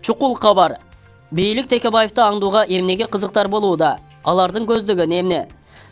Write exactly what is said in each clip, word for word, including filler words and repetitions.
Чукул кабар. Бийлик Текебаевди аңдууга эмнеге кызыктар болууда? Алардын көздөгөнү эмне?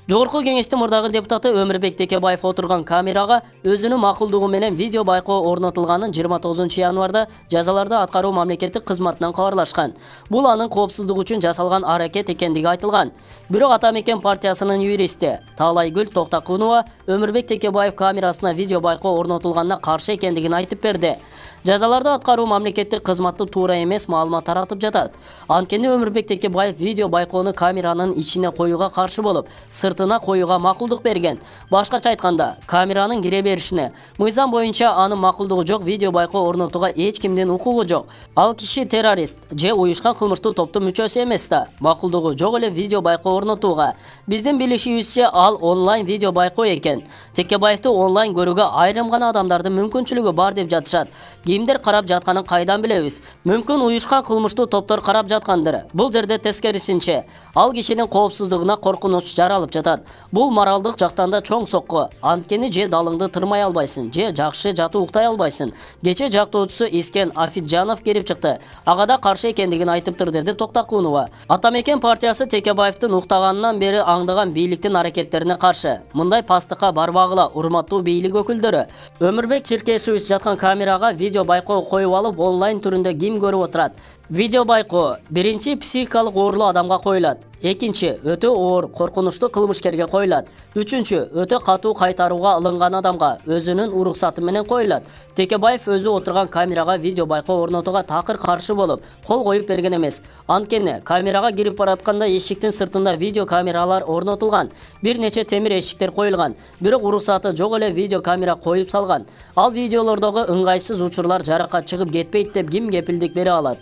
Жогорку кеңештин мурдагы депутаты Өмүрбек Текебаев отурган камерага өзүнүн макулдугу менен видео байкоо орнотулганын жыйырма тогузунчу январда жазаларды аткаруу мамлекеттик кызматынан кабарлашкан. Бул анын коопсуздугу үчүн жасалган аракет экендиги айтылган. Бирок Ата Мекен партиясынын юристи Таалайгүл Токтокунова Өмүрбек Текебаев камерасына видео байкоо орнотулганына каршы экендигин айтып берди. Жазаларды аткаруу мамлекеттик кызматты туура эмес маалымат таратып жатат. Анткени Өмүрбек Текебаев видео байкоону камеранын ичине коюуга каршы болуп, сыртына коюуга макулдук берген. Башкача айтканда, камеранын кире беришине мыйзам боюнча анын макулдугу жок видео байкоо орнотууга эч кимдин укугу жок. Ал киши террорист же уюшкан кылмыштуу топтун мүчөсү эмес да, макулдугу жок эле видео байкоо орнотууга. Биздин билишибизче ал онлайн видео байкоо экен. Текебаевди онлайн көрүүгө айрым гана адамдардын мүмкүнчүлүгү бар деп жатышат. Кимдер карап жатканын кайдан билебиз? Мүмкүн уюшкан кылмыштуу топтор карап жаткандыр. Бул жерде тескерисинче, ал кишинин коопсуздугуна коркунуч жаралып жатат. Бул моралдык жактан да чоң сокку. Анткени же далыңды тырмай албайсың, же жакшы жатып уктай албайсың. Кече жактоочусу Искен Афиджанов келип чыкты. Ага да каршы экендигин айтыптыр, деди Токтокунова. Ата Мекен партиясы Текебаевдин уктаганынан бери аңдыган бийликтин аракеттерине каршы. Мындай пастыкка барбагыла, урматтуу бийлик өкүлдөрү. Өмүрбек Чиркешевич жаткан камерага видео байкоо коюп алып, онлайн түрүндө ким көрүп отурат? Видео байкоо биринчи психикалык оорулуу адамга коюлат. Экинчи өтө оор, коркунучтуу кылмышкерге коюлат. Үчүнчү өтө катуу кайтарууга алынган адамга өзүнүн уруксаты менен коюлат. Текебаев өзү отурган камерага видео байкоо орнотууга такыр каршы болуп, кол коюп берген эмес. Анткени камерага кирип баратканда эшиктин сыртында видео камералар орнотулган. Бир нече темир эшиктер коюлган. Бирок уруксаты жок эле видео камера коюп салган. Ал видеолордогу ыңгайсыз учурлар жаракат чыгып кетпейт деп ким кепилдик бере алат?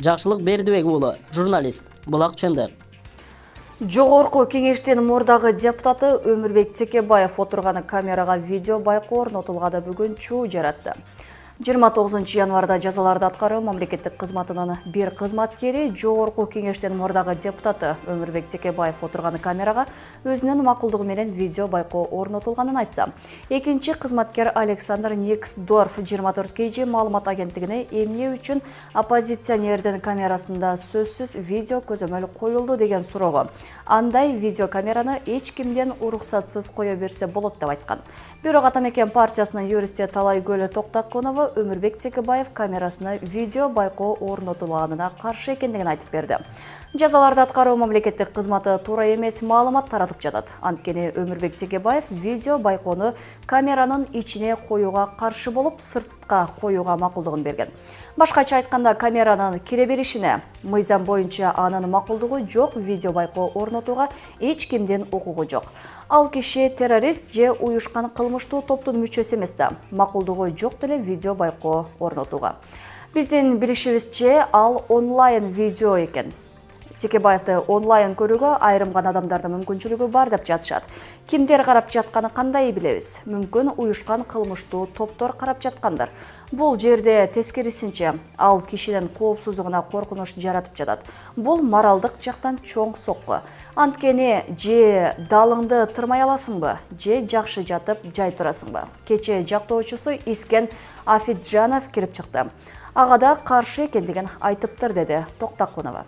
Жакшылык Бердибек уулу, журналист, Булак чындык. Жогорку кеңештин мурдагы депутаты Өмүрбек Текебаев отурган камерага видео байкоо орнотулганда бүгүн чуу жаратты. жыйырма тогузунчу январда жазаларды аткаруу мамлекеттик кызматынын бир кызматкери жогорку кеңештин мурдагы депутаты Өмүрбек Текебаев отурган камерага өзүнүн макулдугу менен видео байкоо орнотулганын айтса, экинчи кызматкер Александр Никсдорф жыйырма төрт кей же маалымат агенттигине эмне үчүн оппозиционердин камерасында сөзсүз видео көзөмөл коюлду деген суроого, андай видео камераны эч кимден уруксатсыз кое берсе болот деп айткан. Бирок Ата Мекен партиясынын юристи Таалайгүл Токтокунова Өмүрбек Текебаев камерасына видео байкоо орнотулганына каршы экендигин айтып берди. Жазаларды аткаруу мамлекеттик кызматы туура эмес маалымат таратып жатат. Анткени Өмүрбек Текебаев видео байкоону камеранын ичине коюуга каршы болуп, сыртка коюуга макулдугун берген. Башкача айтканда, камеранын кире беришине мыйзам боюнча анын макулдугу жок видео байкоо орнотууга эч кимдин укугу жок. Ал киши террорист же уюшкан кылмыштуу топтун мүчөсү эмес да, макулдугу жок деле видео байкоо орнотууга. Биздин билишибизче, ал онлайн видео экен. Текебаевди онлайн көрүүгө айрым гана адамдардын мүмкүнчүлүгү бар деп жатышат. Кимдер карап жатканы кандай билебиз? Мүмкүн уюшкан кылмыштуу топтор карап жаткандыр. Бул жерде тескерисинче, ал кишинин коопсуздугуна коркунуч жаратып жатат. Бул моралдык жактан чоң сокку. Анткени же далыңды тырмай аласыңбы, же жакшы жатып жай турасыңбы? Кече жактоочусу Искен Афиджанов кирип чыкты. Ага да каршы экендигин айтыптыр, деди Токтокунова.